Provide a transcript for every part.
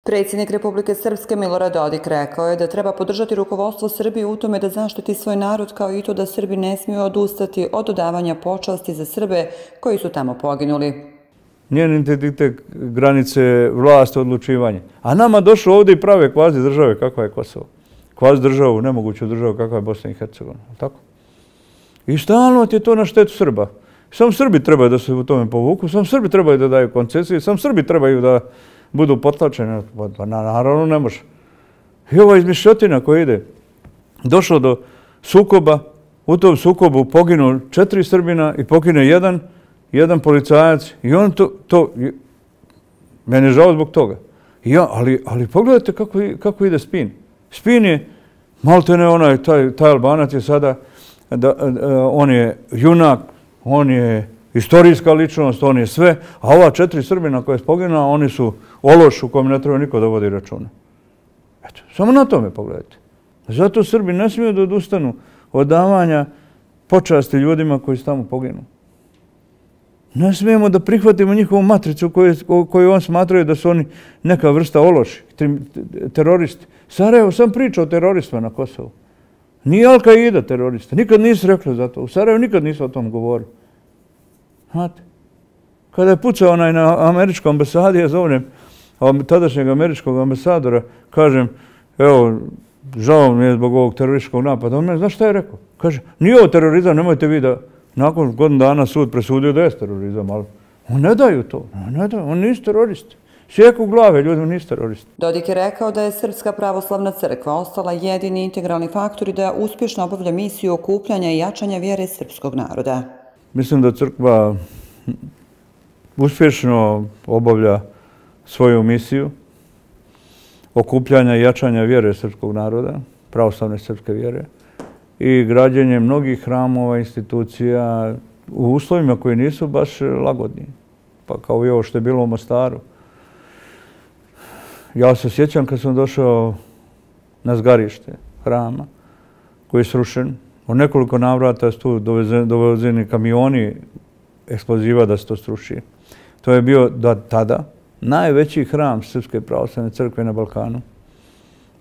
Predsjednik Republike Srpske Milorad Dodik rekao je da treba podržati rukovodstvo Srbije u tome da zaštiti svoj narod, kao i to da Srbi ne smiju odustati od dodavanja počasti za Srbe koji su tamo poginuli. Njen integritet, granice, vlast, odlučivanje. A nama došlo ovdje i prave kvazi države kakva je Kosovo. Kvazi državu, nemoguću državu kakva je Bosna i Hercegovina. Tako? I stalno je to na štetu Srba. Sam Srbi trebaju da se u tome povuku, sam Srbi trebaju da daju koncesije, sam Srbi trebaju da budu potlačeni. Pa naravno ne može. I ova izmišljotina koja ide, došlo do sukoba, u tom sukobu poginu 4 Srbina i pogine jedan policajac i on to meni je žao zbog toga. Ali pogledajte kako ide spin. Spin je, maltene onaj, taj Albanac je sada, on je junak, on je istorijska ličnost, on je sve, a ova 4 Srbina koja je poginula, oni su ološ u kojem ne treba niko da vodi računa. Eto, samo na tome pogledajte. Zato Srbi ne smiju da odustanu od davanja počasti ljudima koji su tamo poginu. Ne smijemo da prihvatimo njihovu matricu koju on smatraju da su oni neka vrsta ološi, teroristi. Sarajevo sam priča o teroristima na Kosovu. Nije Al-Qaida terorista. Nikad nisu rekli za to. U Sarajevu nikad nisu o tom govorili. Znate, kada je pucao onaj na američkoj ambasadi, ja zovem tadašnjeg američkog ambasadora, kažem, evo, žao mi je zbog ovog terorističkog napada. On meni, znaš šta je rekao? Kaže, nije ovo terorizam, nemojte vi da... Nakon godinu dana sud presudio da je terorizam, ali on ne daju to. On nisu teroristi. Sjeku glave, ljudi nisu teroristi. Dodik je rekao da je Srpska pravoslavna crkva ostala jedini integralni faktor i da uspješno obavlja misiju okupljanja i jačanja vjere srpskog naroda. Mislim da crkva uspješno obavlja svoju misiju okupljanja i jačanja vjere srpskog naroda, pravoslavne srpske vjere, i građenje mnogih hramova, institucija u uslovima koji nisu baš lagodni. Pa kao i ovo što je bilo u Mostaru. Ja se sjećam kad sam došao na zgarište hrama koji je srušen. U nekoliko navrata su tu dovezeni kamioni eksploziva da se to sruši. To je bio tada najveći hram Srpske pravoslavne crkve na Balkanu.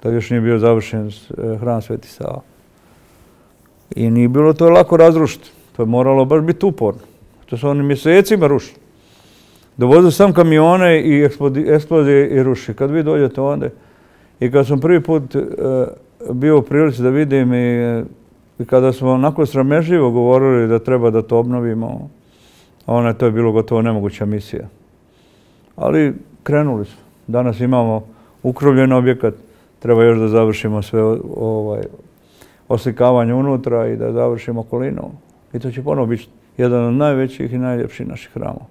Tad još nije bio završen hram Sveti Sava. I nije bilo to lako razrušiti. To je moralo baš biti uporno. To su oni mjesecima rušili. Dovozili sam kamione i eksplozije i ruši. Kad vi dođete onda, i kad sam prvi put bio u prilici da vidim i kada smo onako sramežljivo govorili da treba da to obnovimo, to je bilo gotovo nemoguća misija. Ali krenuli smo. Danas imamo ukrovljen objekat, treba još da završimo sve oslikavanje unutra i da završimo okolinu. I to će ponovo biti jedan od najvećih i najljepših naših hramova.